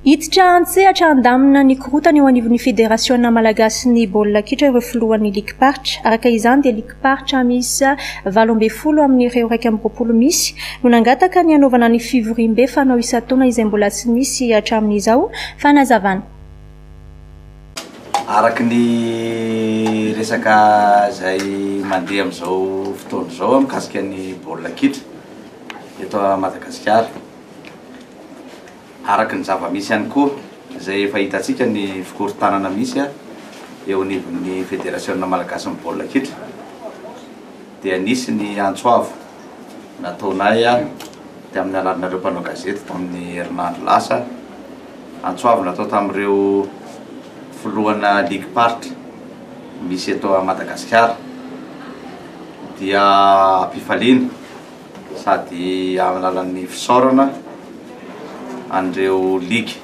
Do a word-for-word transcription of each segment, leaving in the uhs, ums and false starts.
Hiditra an-tsehatra handamina ny korotana eo anivon'ny Federasiona Malagasy ny baolina kitra ireo filohan'ny ligim-paritra. Araka izany dia ligim-paritra miisa valo ambin'ny folo amin'ireo iraika amby roapolo misy no nangataka ny hanaovana ny fivoriambe fanao isan-taona izay mbola tsy nisy hatramin'izao. Fanazavana. Araky ny resaka izay mandeha amin'izao fotoana izao mikasika ny baolina kitra eto Madagasikara, araky ny zava-misy ihany koa izay efa hitantsika ny fikorontanana misy eo anivon'ny Federasiona Malagasy ny baolina kitra, dia nisy ny antso avo nataonay dia amin'ny alalanareo mpanao gazety tamin'ny herinandro lasa, antso avo natao tamin'ireo filohana ligim-paritra misy eto Madagasikara, dia ampifaliana sady amin'ny alalan'ny fisaorana an'ireo ligy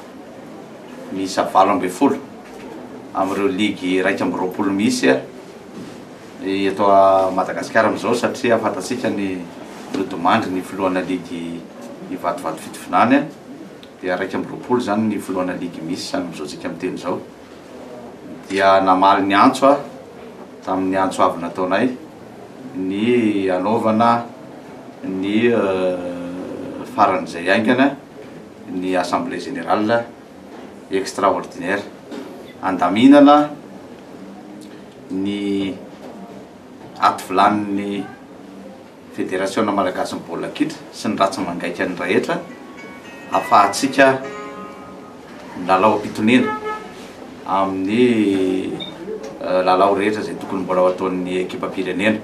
miisa valo ambin'ny folo amin'ireo ligy iraika amby roapolo misy eto Madagasikara amin'izao, satria fantatsika ny nodimandry ny filohana ligy Ivatovato Fitovinany, dia iraika amby roapolo zany ny filohana ligy misy amin'izao tsika miteny izao. Dia namaly ny antso a tamin'ny antso avy nataonay ny anaovana ny faran'izay haingana ny assemblée générale extraordinaire andaminana ny ativilanin'ny Federasiona Malagasy ny baolina kitra sy ny ratsy mangaika ny rehetra ahafahantsika milalao am-pitonena amin'ny lalao rehetra izay tokony mbola ho ataon'ny ekipam-pirenena.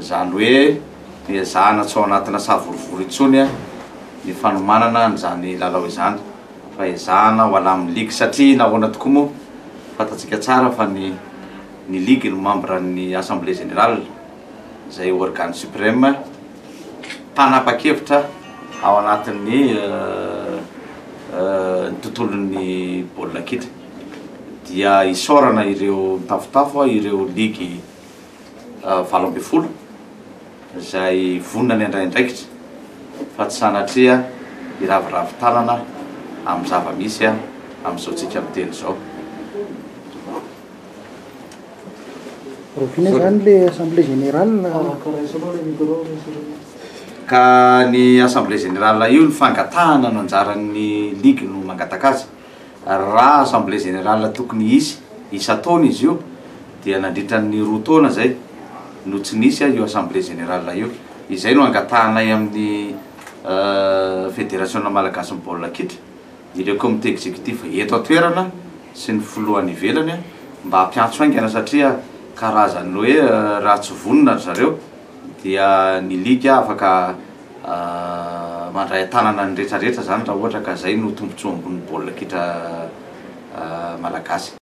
Izany hoe miezahana tsy ao anatina savorovoro intsony ny fanomanana an'izany lalao izany, fa ezahana ho alamin'ny ligy, satria nahoana tokoa moa fantatsika tsara fa ny ny ligy no membre ny assemblée générale izay organe suprême mpanapa-kevitra ao anatin'ny ny tontolon'ny baolina kitra. Dia isaorana ireo mitafotafo ireo ligy valo ambin'ny folo izay vonona ny handray andraikitra fa tsy sanatria hiraviravy tanana amin'ny zava-misy amin'izao tsika miteny izao. Rahoviana zany le assemblée générale? Ka ny assemblée générale io ny fangatahana no anjaran'ny ligy no mangataka azy. Raha assemblée générale tokony hisy isan-taona izy io dia nandritra ny roa taona zay no tsy nisy io assemblée générale io. Izay no angatahanay amin'ny Federasiona Malagasy ny baolina kitra, ireo comité exécutif eto an-toerana sy ny filohany ivelany mba hampiantso haingana, satria karazany hoe raha tsy vonona ry zareo dia ny ligy afaka mandray an-tanana ny rehetrarehetra zany raha ohatra ka zay no tombontsoa ambonin'ny baolina kitra malagasy.